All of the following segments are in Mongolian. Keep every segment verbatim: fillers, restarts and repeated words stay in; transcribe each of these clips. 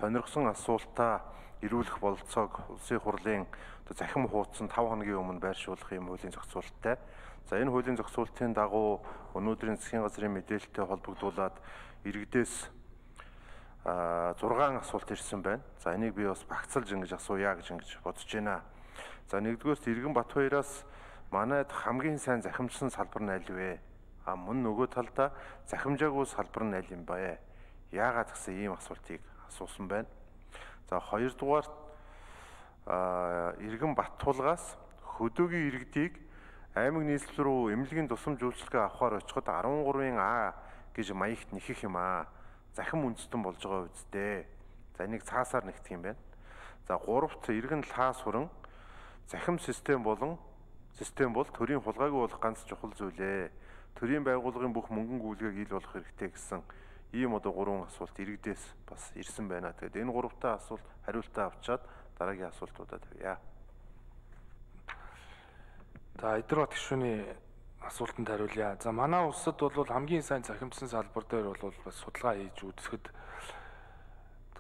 сонирхсон асуултаа ирүүлэх бололцоог улсын хурлын захим хуудсан тав хоногийн өмнө байршуулах юм хуулийн зохицуулалттай. За энэ хуулийн зохицуулалтын дагуу өнөөдрийн засгийн газрын мэдээлэлтэй холбогдуулаад иргэдээс зургаан асуулт ирсэн байна. За энийг би бас багцалж ингэж асууя гэж ингэж бодож байна. За нэгдүгээрт Иргэн Батбаяраас манайд хамгийн сайн захимжсан салбар нь аль вэ? А мөн нөгөө талдаа захимжаагүй салбар нь аль юм бэ? Яагаад гэсэн ийм асуултыг асуусан байна. За хоёрдугаар Иргэн Баттулгаас хөдөөгийн иргэдийг аймаг нийслэл рүү эмнэлгийн тусламж үйлчилгээ авахар очиход арван гурвын А гэж маягт нэхэх юм аа. Захим үндэстэн болж байгаа үсттэй. За энийг цаасаар нэгтгэх юм байна. За гуравт Иргэн Лаас хүрэн захим систем болон систем бол төрийн хулгайг болох ганц чухал зүйлээ. Төрийн байгууллагын бүх мөнгөн гүйлгээг ил болох хэрэгтэй гэсэн ийм одоо гурван асуулт иргэдээс бас ирсэн байна. Тэгээд энэ гуравтаа асуулт хариултаа авчаад дараагийн асуултуудад тавья. За Эдвард гишүүний асуултанд хариулъя. За манай улсад бол хамгийн сайн захимжсан салбар дээр бол бас судалгаа хийж үзэхэд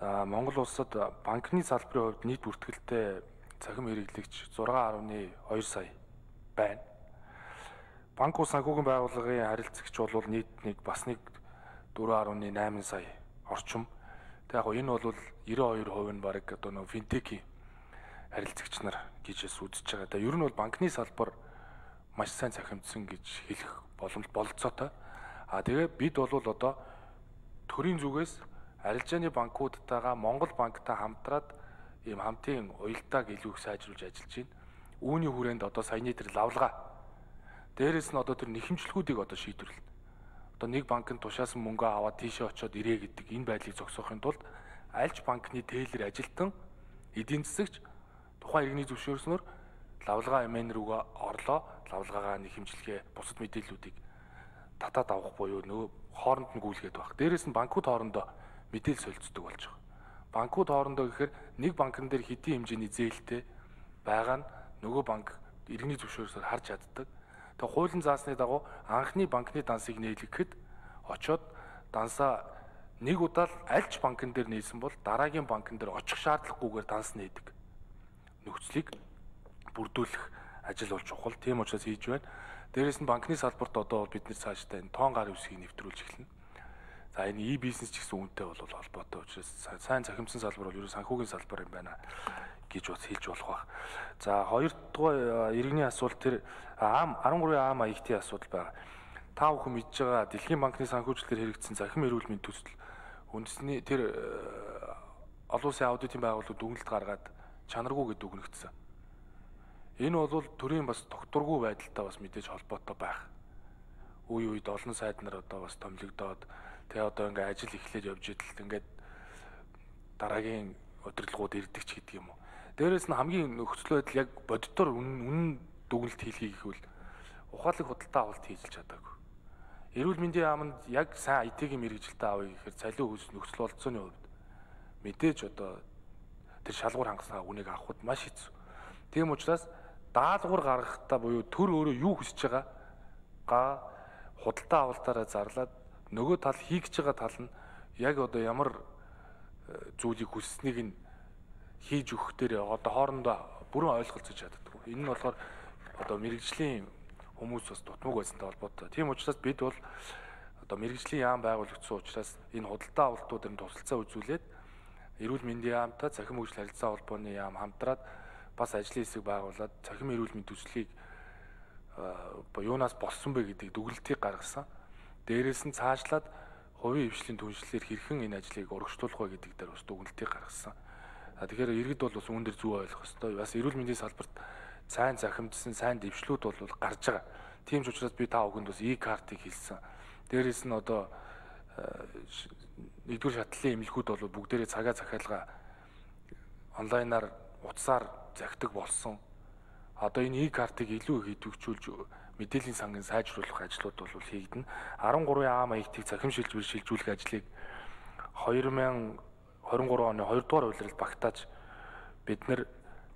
за Монгол улсад банкны салбарын хувьд нийт бүртгэлтэй захим хэрэглэгч зураг гаруй хоёр сая байна. Банк ус санхүүгийн байгууллагын харилцагч бол нийт нэг бас нэг дөрвөн гаруй найман сая орчим. Тэг яг энэ бол девяносто two percent нь баг одоо нөө финтекийн харилцагч нар гэж үзэж байгаа. Тэг ер нь бол банкны салбар маш сайн захимжсан гэж хэлэх боломж бололцоотой. А тэгээ бид бол одоо төрийн зүгээс арилжааны банкудтайгаа Монгол банктай хамтраад ийм хамтын уялдааг илүү их сайжруулж ажиллаж байна. Үүний хүрээнд одоо саяны тэр лавлгаа дээрээс нь одоо тэр нэхэмжлэгүүдийг одоо шийдвэрлэнэ. Одоо нэг банкнд тушаасан мөнгө аваад тийшээ очиод ирээ гэдэг энэ байдлыг зогсоохын тулд альж банкны тейлэр ажилтан эдийн засагч тухайн иргэний зөвшөөрснөөр лавлгаа эмэн рүүгээ орлоо, лавлгаагаа нэхэмжлэгээ бусад мэдээллүүдийг татаад авах буюу нөгөө хооронд нь гүйлгээд байх. Дээрээс нь банкуд хоорондоо мэдээлэл солилцдог болж байгаа. Банкуд хоорондоо гэхээр нэг банкн дээр хэдийн хэмжээний зээлтэй байгаа нь нөгөө банк иргэний зөвшөөрсөөр харж чаддаг. Тэгээ хуулийн заасны дагуу анхны банкны дансыг нээлгэхэд очоод дансаа нэг удаа л альж банкн дээр нээсэн бол дараагийн банкн дээр очих шаардлагагүйгээр данс нээдэг нөхцөлийг бүрдүүлэх ажил болж чухал. Тийм учраас хийж байна. Дээрээс нь банкны салбарт одоо бид нэр цаашдаа энэ тоон гар үсгийг нэвтрүүлж эхэлнэ. За энэ e-бизнес ч гэсэн үүнтэй бол холбоотой учраас сайн захимжсан салбар бол ерөө санхүүгийн салбар юм байна гэж бас хэлж болох байх. За хоёр дахь иргэний асуулт тэр ам арван гурван А маягтын асуудал байгаа. Та бүхэн мэдж байгаа Дэлхийн банкны санхүүжилтээр хэрэгжсэн захим эрүүл мэндийн төсөл үндэсний тэр олон улсын аудитын байгууллагууд дүгнэлт гаргаад чанаргүй гэдэг үгнэгдсэн. Энэ бол төрийн бас тогтворгүй байдалтай бас мэдээж холбоотой байх. Үе үед олон сайд нар одоо бас томилогдоод тэгээ одоо ингээ ажил эхлээд явж идэл ингээд дараагийн удирдлагууд ирдэг ч гэдэг юм уу. Дээрээс нь хамгийн нөхцөл байдал яг бодитоор үнэн дүгнэлт хийлхий гэхвэл ухаалаг худалдаа авалт хийж л чадаагүй. Эрүүл мэндийн яамд яг сайн ай ти-ийн мэргэжилтэд авъя гэхээр цалин хөлс нөхцөл болцооны хувьд мэдээж одоо тэр шалгуур хангасаа үнийг авахд маш хэцүү. Тийм учраас даалгавар гаргахтаа буюу төр өөрөө юу хүсэж байгаа га худалдаа авалтаараа зарлаад нөгөө тал хийгч байгаа тал нь яг одоо ямар зүйлийг хүсснийг нь хийж өгөх дээр одоо хоорондоо бүрэн ойлголцож чаддаг. Энэ нь болохоор одоо мэрэгжлийн хүмүүс бас дутмаг байсантай холбоотой. Тийм учраас бид бол одоо мэрэгжлийн яам байгуулагдсан учраас энэ худалдаа авалтуудын тусалцаа үзүүлээд эрүүл мэндийн яамтай цахим хөгжил харилцаа холбооны яам хамтраад бас ажлын хэсэг байгуулад цахим эрүүл мэндийн төслийг юунаас болсон бэ гэдэг дүгнэлтийг гаргасан. Дээрээс нь цаашлаад хувийн хвшлийн түншлэлээр хэрхэн энэ ажлыг урагшлуулах вэ гэдэг дээр бас дүгнэлтийг гаргасан. Тэгэхээр иргэд бол бас үүн дээр зөв ойлгох ёстой. Бас эрүүл мэндийн салбарт сайн захимжсан, сайн дэвшлүүд бол гарч байгаа. Тийм ч учраас би та бүхэнд бас e-картыг хэлсэн. Дээрээс нь одоо нэгдүгээр шатлалын эмнэлгүүд бол бүгдээрээ цагаа захиалга онлайнаар утсаар захидаг болсон. Одоо энэ e-картыг илүү их идэвхжүүлж мэдээллийн сангийн сайжруулах ажлууд бол хийгдэнэ. арван гурван А маягтыг захим шилжүүлж шилжүүлэх ажлыг хоёр мянга двадцать три оны хоёр дугаар улиралд багтааж бид нар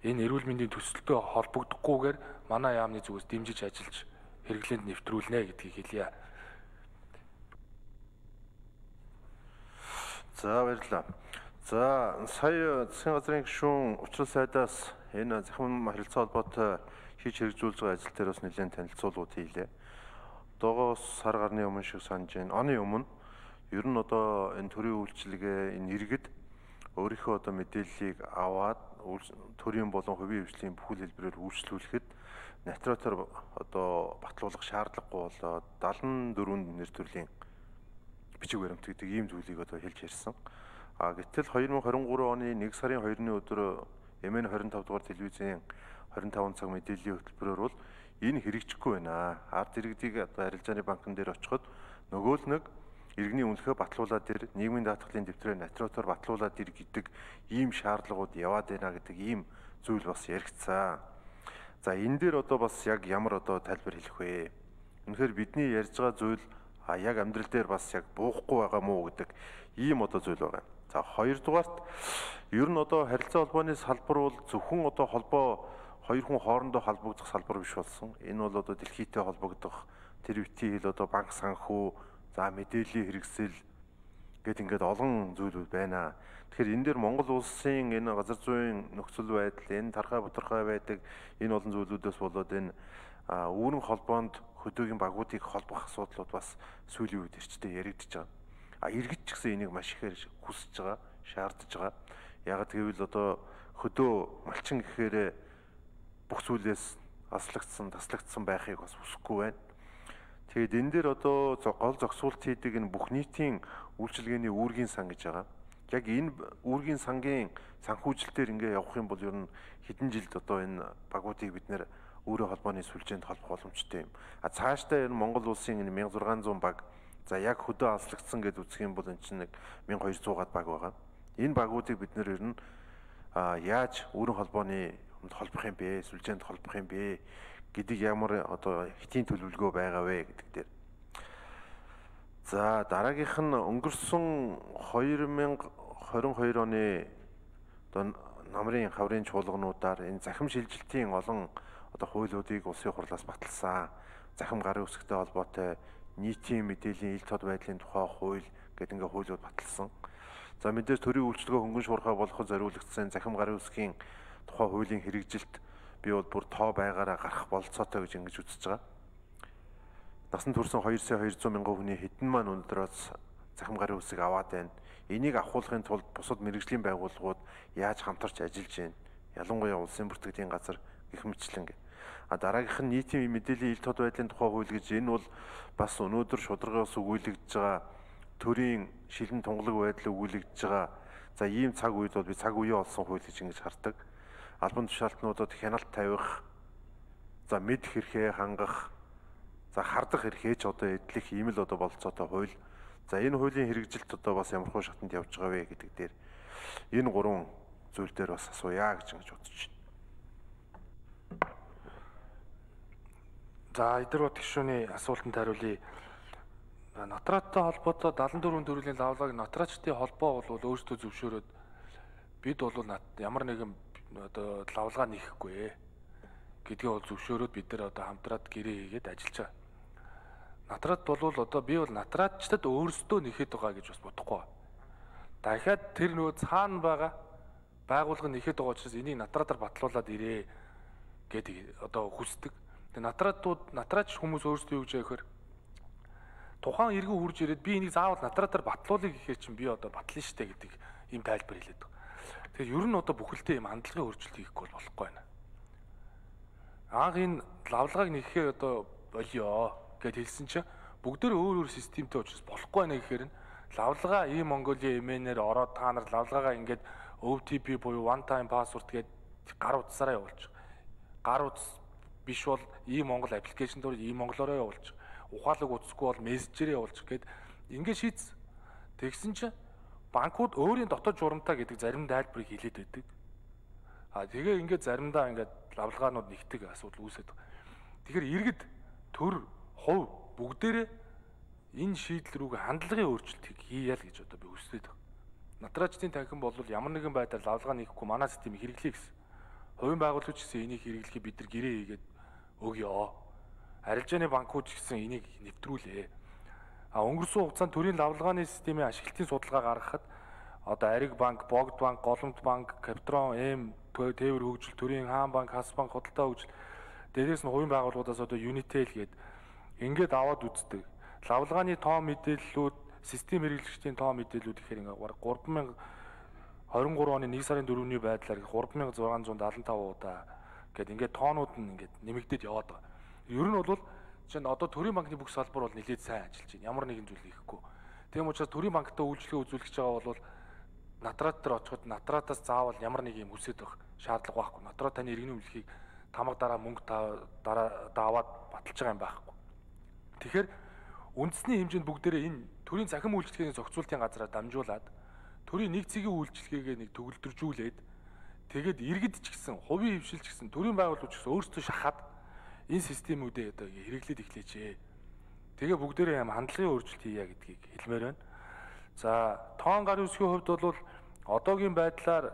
энэ эрүүл мэндийн төсөлтөд холбогдохгүйгээр манай яамны зүгээс дэмжиж ажиллаж хэрэглээнд нэвтрүүлнэ гэдгийг хэлье. За баярлалаа. За сая засгийн газрын гишүүн учрал сайдаас энэ захин харилцаа холбоотой хийж хэрэгжүүлж байгаа ажил дээр бас нэлээд танилцуулгууд хийлээ. Одоогоос сар гарны өмнө шиг санаж байна. Оны өмнө ер нь одоо энэ төрийн үйлчилгээ энэ иргэд өөрийнхөө одоо мэдээллийг аваад төрийн болон хувийн хвшлийн бүхэл хэлбэрээр үйлчлүүлэхэд натратор одоо батлуулах шаардлагагүй болоод даалан дөрвөн нэр төрлийн бичиг баримт гэдэг ийм зүйлийг одоо хэлж ярьсан. А гэтэл две тысячи двадцать три оны нэг сарын хоёрны өдөр эм эн двадцать пять дугаар телевизийн двадцать пять цаг мэдээллийн хөтөлбөрөөр бол энэ хэрэгжихгүй байна. Ард иргэдийг одоо арилжааны банкн дээр очиход нөгөө л нэг иргэний үнэлгээ батлуулаад ир нийгмийн даатгалын дэвтрээр натратор батлуулаад ир гэдэг ийм шаардлагууд яваад байна гэдэг ийм зүйл бас яригдсан. За энэ дээр одоо бас яг ямар одоо тайлбар хэлэх вэ? Үнэхээр бидний ярьж байгаа зүйл а яг амьдрал дээр бас яг буухгүй байгаа мó гэдэг ийм одоо зүйл байгаа. За хоёрдугаарт ер нь одоо харилцаа холбооны салбар бол зөвхөн одоо холбоо хоёр хүн хоорондоо холбогдох салбар биш болсон. Энэ бол одоо дэлхийдээ холбогдох тэр битгий хэл одоо банк санхүү, за мэдээллийн хэрэгсэл гэд ингээд олон зүйлүүд байна. Тэгэхээр энэ дээр Монгол улсын энэ газар зүйн нөхцөл байдал, энэ тархай бутархай байдаг энэ олон зүйлүүдээс болоод энэ үүрэн холбоонд хөдөөгийн багуудыг холбох асуудлууд бас сүүлийн үед ирчтэй яригдчихэж байгаа. А иргэд ч гэсэн энийг маш ихээр хүсэж байгаа, шаардж байгаа. Яг гэвэл одоо хөдөө малчин гэхээр бүх зүйлээс аслагдсан, таслагдсан байхыг бас хүсэхгүй байна. Тэгээд энэ дээр одоо гол зогсуулт хийдэг энэ бүх нийтийн үйлчилгээний үүргийн сан гэж байгаа. Яг энэ үүргийн сангийн санхүүжилтээр ингээ явах юм бол ер нь хэдэн жилд одоо энэ багуудыг бид нэр өөрийн холбооны сүлжээнд холбох боломжтой юм. А цаашдаа энэ Монгол улсын энэ мянга зургаан зуун баг за яг хөдөө аслагдсан гэж үзэх юм бол энэ чинь нэг мянга хоёр зуун баг байгаа. Энэ багуудыг бид нэр ер нь яаж өөрийн холбооны холбох юм бэ? Сүлжээнд холбох юм бэ гэдэг ямар одоо хэтийн төлөвлөгөө байгаа вэ гэдэг дээр. За дараагийнх нь өнгөрсөн две тысячи двадцать two оны одоо намрын хаврын чуулгануудаар энэ захим шилжилтийн олон одоо хуулиудыг улсын хурлаас баталсан. Захим гарын үсгтэй холбоотой нийтийн мэдээллийн ил тод байдлын тухай хууль гэдэг ингээ хуулиуд баталсан. За мэдээж төрийн үйлчлэгөө хөнгөн шуурхай болгоход зориулагдсан захим гарын үсгийн тухай хуулийн хэрэгжилт би бол бүр тоо байгаараа гарах болцоотой гэж ингэж үзэж байгаа. Насан турсан two сая two hundred мянган хүний хэдэн маань өнөөдрөөс захим гарын үсэг аваад байна. Энийг авахуулахын тулд бусад мэргэжлийн байгууллагууд яаж хамтарч ажиллаж байна? Ялангуяа улсын бүртгэлийн газар гэх мэтлэн. А дараагийнх нь нийтийн мэдээллийн ил тод байдлын тухай хууль гэж энэ бол бас өнөөдөр шударгаас өгүүлэгдэж байгаа төрийн шилэн тунгалаг байдал өгүүлэгдэж байгаа. За ийм цаг үед бол би цаг үеэ олсон хууль гэж ингэж хардаг. Албан тушаалтнуудад хяналт тавих, за мэд хэрхээ хангах, за хардах хэрхээ ч одоо эдлэх ийм л одоо болцоотой хууль. За энэ хуулийн хэрэгжилт одоо бас ямархуу шатанд явж байгаа вэ гэдэг дээр энэ гурван зүйл дээр бас асууя гэж ингэж бодож байна. За эдгээр гишүүний асуултанд хариулъя. Натраттай холбоотой seventy four төрлийн лавлагыг натратчдын холбоо бол өөрсдөө зөвшөөрөөд бид бол ямар нэгэн одоо лавлгаа нээхгүй гэдгээ бол зөвшөөрөөд бид нар одоо хамтраад гэрээ хийгээд ажиллаж байгаа. Натрат бол одоо би бол натратчдад өөрсдөө нэхэд байгаа гэж бас бодохгүй. Дахиад тэр нөгөө цаана байгаа байгууллага нэхэд байгаа учраас энийг натратаар батлуулаад ирээ гэдэг одоо хүсдэг. Тэгээ натратууд натрач хүмүүс өөрсдөө юу гэж яахэр тухайн иргэн хурж ирээд би энийг заавал натратаар батлуулъя гэхээр чинь би одоо батлана штэ гэдэг ийм тайлбар хэлээд байгаа. Тэгэхээр ер нь одоо бүхэлдээ ийм хандлагын өөрчлөлт хийхгүй бол болохгүй байна. Анх энэ лавлагыг нэхэхээр одоо болио гэд хэлсэн чинь бүгдөө өөр өөр системтэй учраас болохгүй байна гэхээр нь лавлага ийм Mongolia эм эн-ээр ороод та нар лавлагаа ингээд о ти пи буюу one time password гээд гар утсаараа явуулчих. Гар утас биш бол ийм Монгол аппликейшн дээр ийм монголоор явуулчих. Ухаалаг утасгүй бол мессежээр явуулчих гээд ингээд шийдсэн. Тэгсэн чинь банкуд өөрийн дотоод журамтаа гэдэг зарим тайлбарыг хэлээд байдаг. А тэгээ ингээд заримдаа ингээд лавлагаанууд нэгтгэх асуудал үүсээд байгаа. Тэгэхээр иргэд төр хувь бүгдээрээ энэ шийдэл рүүгээ хандлагын өөрчлөлтийг хийя л гэж одоо би хүсэж байгаа. Натраачдын танхим бол ямар нэгэн байдлаар лавлага нэхгүй манай системийг хэрэглэе гэсэн. Хувийн байгууллагч гэсэн энийг хэрэглэхийг бид нар гэрээ хийгээд өгье. Арилжааны банкуд гэсэн энийг нэвтрүүлээ. А өнгөрсөн хугацаанд төрийн лавлагааны системийн ашиглалтын судалгаа гаргахад одоо Ариг банк, Богд банк, Голомт банк, Капитрон, Эм, Тээвэр хөгжил, Төрийн хаан банк, Хас банк, Худалдаа хөгжил, дээрээс нь хувийн байгууллагуудаас одоо Unitel гээд ингээд аваад үздэг. Лавлгааны тоо мэдээллүүд, систем хэрэглэгчдийн тоо мэдээллүүд гэхээр ингээд бараг гурван мянга двадцать три оны нэг сарын дөрөвний байдлаар гурван мянга зургаан зуун даатан тав удаа гээд ингээд тоонууд нь ингээд нэмэгдээд яваад байгаа. Ер нь бол чинь одоо Төрийн банкны бүх салбар бол нэлээд сайн ажиллаж байна. Ямар нэгэн зүйл хийхгүй. Тийм учраас Төрийн банктай үйлчлэгээ үзүүлэх гэж байгаа бол Натрат дээр очиход Натратаас заавал ямар нэг юм үсээд байх шаардлага байхгүй. Натрат таны иргэний өмнөлөхийг тамга дараа мөнгө дараа даваад баталж байгаа юм байхгүй. Тэгэхээр үндэсний хэмжээнд бүгдээрээ энэ төрийн захим үйлчлэгээний зохицуултын газраар дамжуулаад төрийн нэг цэгийн үйлчлэгээгээ нэг төгөлдржүүлээд тэгээд иргэд ч гэсэн хувийн хвшил ч гэсэн төрийн байгууллагууд ч гэсэн өөрсдөө шахаад энэ системүүдээ одоо хэрэглээд эхлэеч. Тэгээ бүгдээрээ юм хандлагын өөрчлөлт хийя гэдгийг хэлмээр байна. За тоон гар үсгийн хувьд бол одоогийн байдлаар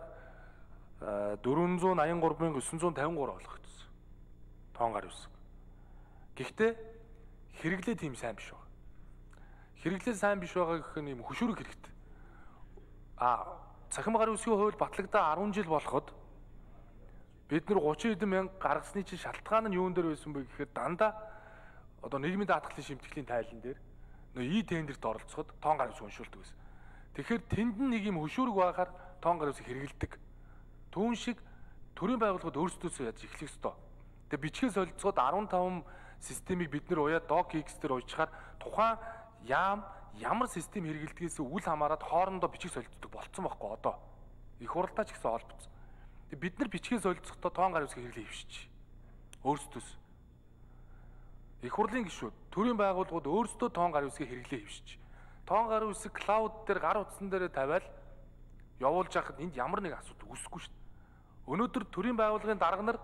дөрвөн зуун аян гурван мянга өссөн зуун тавин гурав болгогдсон. Тоон гар үсэг. Гэхдээ хэрэглээ тийм сайн биш байна. Хэрэглээ сайн биш байгаа гэх нь юм хөшүүрэг хэрэгтэй. А цахим гар үсгийн хувьд батлагдаа арван жил болоход бид нар гучин хэдэн мянга гаргасны чинь шалтгаан нь юун дээр байсан бэ гэхээр дандаа одоо нийгмийн даатгалын шимтгэлийн тайлан дээр нөө и тендерт оролцоход тоон гар ус уншуулдаг байсан. Тэгэхээр тэнд нэг юм хөшүүрэг байхаар тоон гар усыг хэрэгэлдэг. Түүн шиг төрийн байгууллагууд өөрсдөөсөө яаж эхлэх ёстой. Тэгээ бичгээ солилцоход арван таван системийг бид нэр уяа док икс дээр уйчаар тухайн яам ямар систем хэрэгэлдгээс үл хамааран хоорондоо бичиг солилцдог болцсон байхгүй одоо. Их хуралдаа ч гэсэн холбогдсон. Тэгээ бид нар бичгээ солилцохдоо тоон гар усыг хэрэглээ хөвшиж. Өөрсдөөс их хурлын гишүүд төрийн байгууллагууд өөрсдөө тоон гар үсгийг хэрэглээ хөвшиж. Тоон гар үсэг клауд дээр гар утсан дээр тавиал явуулж байхад энд ямар нэг асуудал үүсэхгүй шүү дээ. Өнөөдөр төрийн байгууллагын дарга нар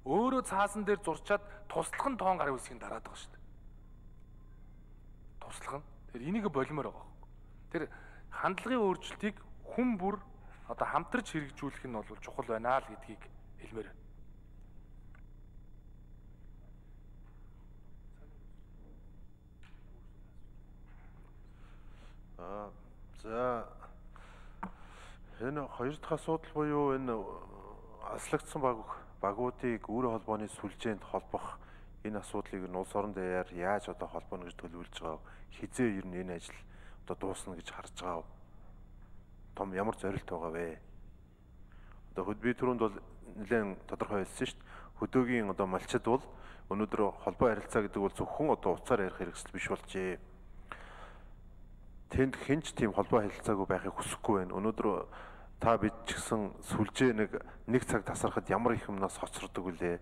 өөрөө цаасан дээр зурчаад туслах нь тоон гар үсгийг дараад байгаа шүү дээ. Туслах нь. Тэр энийг болимоор байгаа. Тэр хандлагын өөрчлөлтийг хүн бүр одоо хамтарч хэрэгжүүлэх нь бол чухал байна л гэдгийг хэлмээр байна. Аа за энэ хоёр дахь асуудал буюу энэ аслагдсан баг багуудыг үр холбооны сүлжээнд холбох энэ асуудлыг нь улс орон даяар яаж одоо холбооно гэж төлөвлөж байгаа хизээ ер нь энэ ажил одоо дуусна гэж харж байгаа том ямар зорилт байгаа вэ? Одоо хөд би түрүүнд бол нэлээд тодорхой хэлсэн шүү дээ. Хөдөөгийн одоо малчид бол өнөөдөр холбоо харилцаа гэдэг бол зөвхөн одоо уцаар ярих хэрэгсэл биш болжээ. Тэнд хинч тийм холбоо харилцаагүй байхыг хүсэхгүй байна. Өнөөдөр та бид ч гэсэн сүлжээ нэг нэг цаг тасархад ямар их юмнаас хоцордог вүлээ?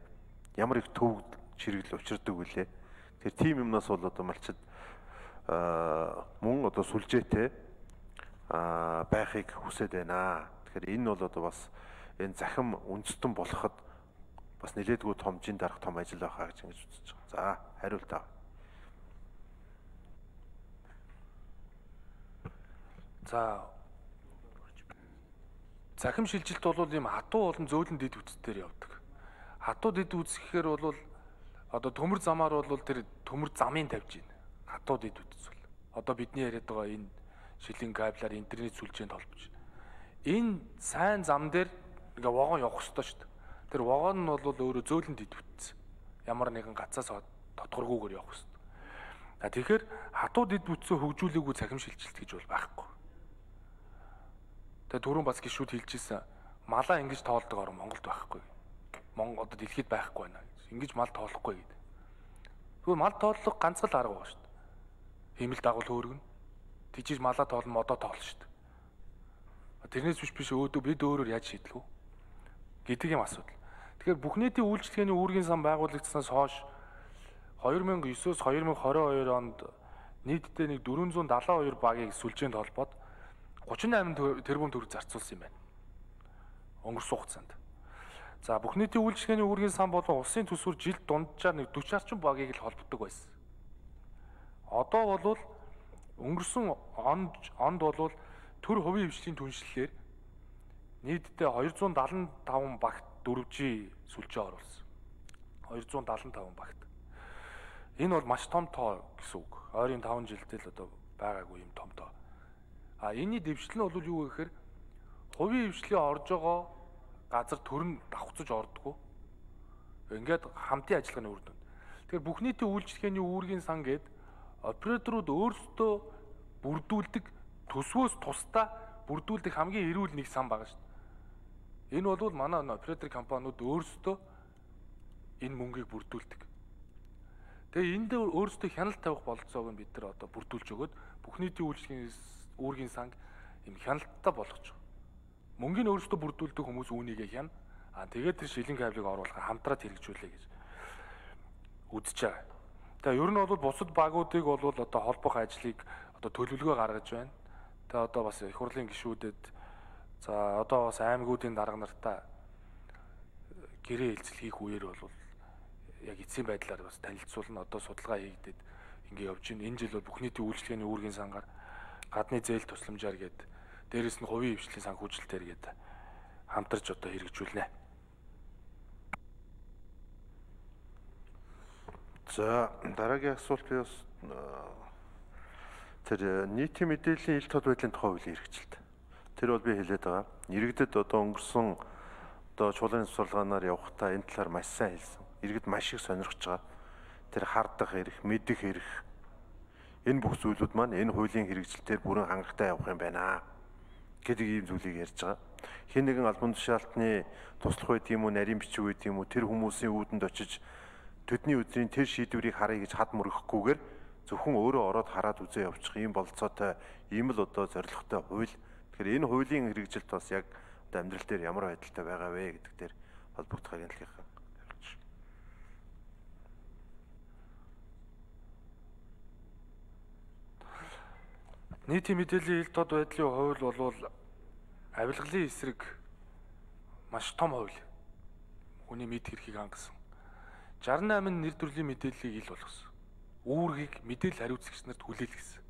Ямар их төв чирэгэл учирдаг вүлээ? Тэр тийм юмнаас бол одоо малчид аа мөн одоо сүлжээтэй аа байхыг хүсэж байна. Тэгэхээр энэ бол одоо бас энэ захим үндэстэн болоход бас нэлээдгүй том жин дарах том ажил байхаа гэж ингэж үзэж байгаа. За, хариулт аваа. За захим шилжилт бол ийм хатуу болон зөөлөн дэд үтсээр явдаг. Хатуу дэд үтс гэхээр бол одоо төмөр замаар бол тэр төмөр замын тавьж байна. Хатуу дэд үтс бол. Одоо бидний яриад байгаа энэ шилийн кабелаар интернет сүлжээнд холбож байна. Энэ сайн зам дээр ингээ вогон явах ёстой шүү дээ. Тэр вогон нь бол өөрөө зөөлөн дэд үтс. Ямар нэгэн гацаас тодгоргүйгээр явах ёстой. А тэгэхээр хатуу дэд үтсөө хөгжүүлээгүй захим шилжилт гэж бол байхгүй. Тэгээ түрүүн бас гişүүд хэлжсэн малаа ингэж тоолдог орн Монголд байхгүй. Монгол одоо дэлхийд байхгүй байна. Ингэж мал тоолохгүй гэдэг. Тэгвэл мал тооллого ганц л арга байна шүү дээ. Химэл дагуул хөөргөн. Тийчж малаа тоолно модоо тоолно шүү дээ. Тэрнээс биш биш өөдөө бид өөрөөр яаж шийдэх вэ гэдэг юм асуудал. Тэгэхээр бүх нийтийн үйлчлэгээний үүргийн сан байгуулагдсанаас хойш two thousand nine-с two thousand twenty-two онд нийтдээ нэг four hundred seventy-two багийг сүлжээнд холбоод thirty-eight тэрбум төгрөг зарцуулсан юм байна. Өнгөрсөн хугацаанд. За бүх нийтийн үйлчлэгээний үүргийн сан болон улсын төсвөр жилд дунджаар нэг forty орчим багийг л холбодог байсан. Одоо бол өнгөрсөн онд онд бол төр хувийн хвшлийн түншлэлээр нийтдээ two hundred seventy-five багт four G сүлжээ оруулсан. two hundred seventy-five багт. Энэ бол маш том тоо гэсэн үг. Ойрын five жилдээ л одоо байгаагүй юм том тоо. А энэний дэвшил нь бол юу вэ гэхээр хувийн хвшлийн орж байгаа газар төр нь давхцаж ордгоо. Ингээд хамтын ажиллагааны үр дүн. Тэгэхээр бүх нийтийн үйлчлэгээний үүргийн сан гээд операторууд өөрсдөө бүрдүүлдэг төсвөөс тусдаа бүрдүүлдэг хамгийн эрүүл нэг сан байгаа шүү дээ. Энэ бол манай оператор компаниуд өөрсдөө энэ мөнгийг бүрдүүлдэг. Тэгээ энд дээр өөрсдөө хяналт тавих бололцоог нь бид нар одоо бүрдүүлж өгөөд бүх нийтийн үйлчлэгийн үүргийн санг юм хяналттай болгож байгаа. Мөнгөний өөрсдөө бүрдүүлдэг хүмүүс үүнийгээ хяна. Аа тэгээд тэр шилэн кабелыг оруулахаар хамтраад хэрэгжүүлээ гэж үзэж байгаа. Тэгээ ер нь бол бусад багуудыг бол одоо холбох ажлыг одоо төлөвлөгөө гаргаж байна. Тэгээ одоо бас их хурлын гишүүдэд за одоо бас аймагуудын дарга нартаа гэрээ хэлцэл хийх үеэр бол яг эцсийн байдлаар бас танилцуулна. Одоо судалгаа хийгдээд ингэ явж байна. Энэ жил бол бүх нийтийн үйлчлэгээний үүргийн сангаар гадны зээл тусламжаар гээд дээрэс нь хувийн хвшлийн сан хүчилтээр гээд хамтарч одоо хэрэгжүүлнэ. За дараагийн асуулт би бас тэр нийтийн мэдээллийн ил тод байдлын тухай хуулийн хэрэгжилт. Тэр бол би хэлээд байгаа. Иргэдэд одоо өнгөрсөн одоо чуулганы сургалгаанаар явахдаа энэ талаар маш сайн хэлсэн. Иргэд маш их сонирхож байгаа. Тэр хардах эрх, мэдэх эрх энэ бүх зүйлүүд маань энэ хуулийн хэрэгжилтээр бүрэн хангалттай явах юм байна гэдэг ийм зүйлийг ярьж байгаа. Хэн нэгэн албан тушаалтны туслах байд юм уу, нарийн бичиг байд юм уу, тэр хүмүүсийн үүдэнд очиж төдний өдрийн тэр шийдвэрийг харъя гэж хад мөрөхгүйгээр зөвхөн өөрөө ороод хараад үзээ явчих ийм болцоотой ийм л одоо зорилготой хууль. Тэгэхээр энэ хуулийн хэрэгжилт бас яг одоо амьдрал дээр ямар байдалтай байгаа вэ гэдэг дээр холбогдох агентлагийнхан хэрэгж. Нийтийн мэдээллийн ил тод байдлын хууль бол авилгалын эсрэг маш том хууль. Хүний мэд хэрхийг хангасан. шестьдесят восемь нэр төрлийн мэдээллийг ил болгосон. Үүргийг мэдээлэл хариуцагч нарт хүлээлгэсэн.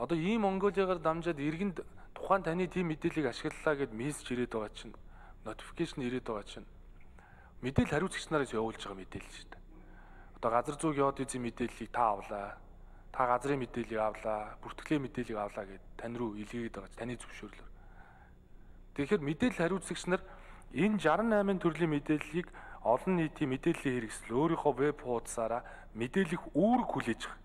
Одоо ийм Монголигаар дамжаад иргэнд тухайн таны тийм мэдээллийг ашиглалаа гэд мессеж ирээд байгаа чинь, нотификейшн ирээд байгаа чинь мэдээлэл хариуцагч нараас явуулж байгаа мэдээлэл шүү дээ. Одоо газар зүйн геодезийн мэдээллийг та авлаа. Та газрын мэдээллийг авлаа, бүртгэлийн мэдээллийг авлаа гэд тань руу илгээгээд байгаа таны зөвшөөрлөөр. Тэгэхээр мэдээлэл хариуцагч нар энэ шестьдесят восемь төрлийн мэдээллийг олон нийтийн мэдээллийн хэрэгсэл өөрийнхөө веб хуудасаараа мэдээлэх үүрэг хүлээж байгаа.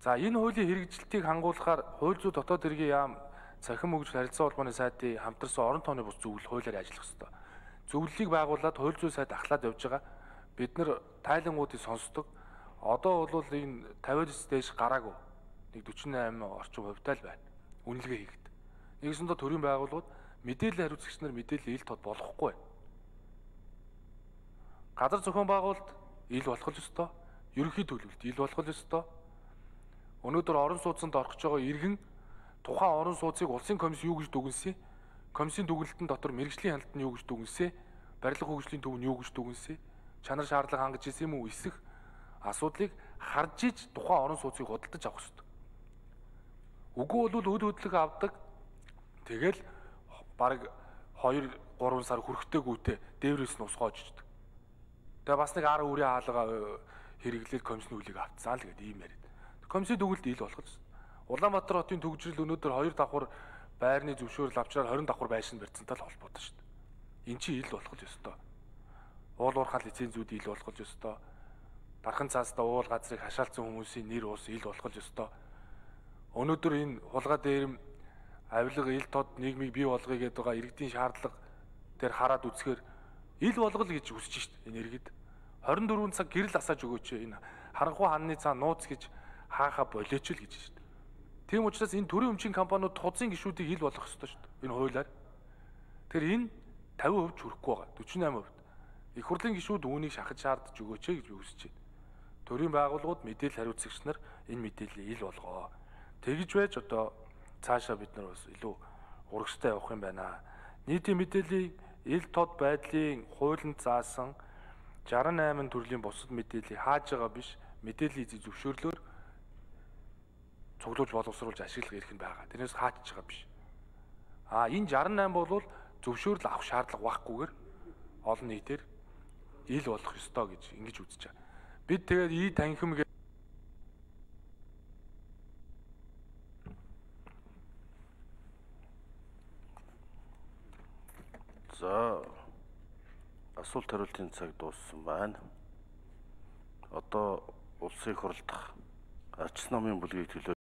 За энэ хуулийн хэрэгжилтийг хангуулахаар хууль зүйн дотоод хэргийн яам цахим хөгжил харилцаа холбооны сайтын хамтарсан орон тооны бус зөвлөл хуулиар ажиллах ёстой. Зөвлөлийг байгуулад хууль зүйн сайд ахлаад явж байгаа. Бид нар тайлангуудыг сонсдог. Одоо бол энэ тавиадс дэш гараагүй. Нэг forty-eight орчим хувьтай л байна. Үнэлгээ хийхэд. Нэгсэндээ төрийн байгууллагууд мэдээлэл хариуцагч нар мэдээлэл ил тод болохгүй. Газар зохион байгуулалт ил болох ёстой. Ерөнхий төлөвлөлт ил болох ёстой. Өнөөдөр орон сууцнд орхиж байгаа иргэн тухайн орон сууцыг улсын комисс юу гэж дүгнэсэн? Комиссийн дүгнэлтэн дотор мэрэгжлийн хяналт нь юу гэж дүгнэсэн? Барилга хөгжлийн төв нь юу гэж дүгнэсэн? Чанар шаардлага хангаж ирсэн юм уу? Эсэх асуудлыг харж иж тухайн орон сууцыг худалдаж авах ёстой. Үгүй бол үд хөдлөг авдаг. Тэгэл бараг two three сар хүрэхтэйгүйтэй дээврээс нь усгоож ичдэг. Тэгээ бас нэг ар үрийн хаалга хэрэглээд комиссны үлийг автсан л гэдэг ийм яриад. Комиссийн дүгнэлт ил болох гэсэн. Улаанбаатар хотын төгжрөл өнөөдөр two давхар байрны зөвшөөрөл авчраар twenty давхар байшин барьцантай л холбоотой шүү дээ. Эн чинь ил болох л ёстой. Уул уурхай лицензүүд ил болох л ёстой. Дархан цаастаа уул газрыг хашаалцсан хүмүүсийн нэр ус ил болох л ёстой. Өнөөдөр энэ хулгай дээр авилга ил тод нийгмийг бий болгоё гэдэг байгаа иргэдийн шаардлага дээр хараад үзэхээр ил болгол гэж хүсэж шít энэ иргэд. twenty-four цаг гэрэл асааж өгөөч энэ харанхуй хаанны цаа нууц гэж хааха болооч л гэж шít. Тийм учраас энэ төрийн өмчийн компаниуд тузын гишүүдийг ил болгох ёстой шít. Энэ хуулиар. Тэгэхээр энэ fifty percent хүрэхгүй байгаа. forty-eight percent. Их хурлын гишүүд үүнийг шахаж шаардж өгөөч гэж би хүсэж байна. Төрийн байгууллагууд мэдээлэл хариуцагч нар энэ мэдээллийг ил болгоо. Тэгж байж одоо цаашаа бид нар бас илүү урагштай явах юм байна. Нийтийн мэдээллийн ил тод байдлын хуулинд заасан sixty-eight төрлийн бусад мэдээллийг хааж байгаа биш, мэдээллийн эзэн зөвшөөрлөөр цуглуулж боловсруулж ашиглах эрх нь байгаа. Тэрнээс хаачж байгаа биш. А энэ sixty-eight бол зөвшөөрөл авах шаардлага баггүйгээр олон нийтээр ил болох ёстой гэж ингэж үзэж байгаа. Бид тэгээд ий танхим За. Асуулт хариултын цаг дууссан байна. Одоо улсын их хурлдах арчс намын бүлгийг төлөө